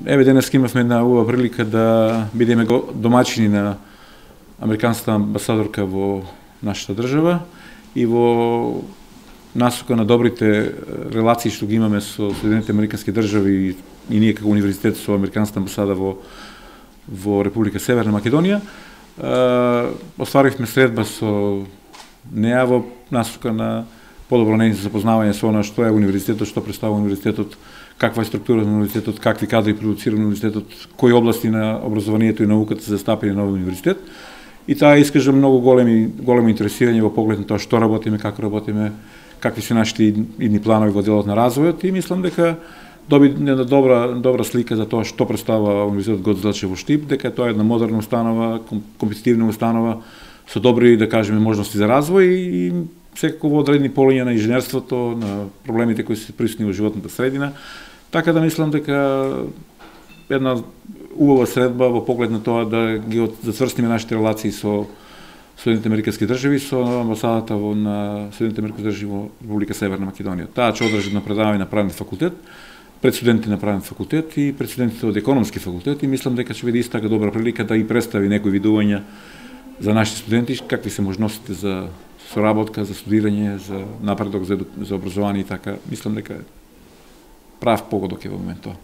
Еве денес имавме една убава прилика да бидеме домаќини на американската амбасадорка во нашата држава и во насока на добрите релации што ги имаме со Соединените американски држави и ние како универзитет со американската амбасада во Република Северна Македонија. Остваривме средба со неа во насока на подобро нејно запознавање со она што е универзитетот, што представува универзитетот, каква е структура на универзитетот, какви кадри продуцира универзитетот, кои области на образованието и науката се застапени на овој универзитет. И таа искажа многу големо интересирање во поглед на тоа што работиме, како работиме, какви се нашите идни планови во делот на развојот, и мислам дека доби една добра слика за тоа што представува универзитетот Гоце Делчев во Штип, дека тоа е една модерна установа, компетитивна установа со добри, да кажеме, можности за развој и секако во одредени полиња на инженерството, на проблемите кои се присутни во животната средина. Така да мислам дека една убава средба во поглед на тоа да ги зацврстиме нашите релации со Соединените американски држави, со амбасадата на Соединените американски држави во Република Северна Македонија. Таа ќе одржи на предавање на правен факултет, пред студенти на правен факултет и пред студентите од економски факултет, и мислам дека ќе биде иста така добра прилика да и представи некои видувања за нашите студенти, какви се можностите за соработка, за студирање, за напредок, за образование и така. Мислам дека прав погодок е во моментот.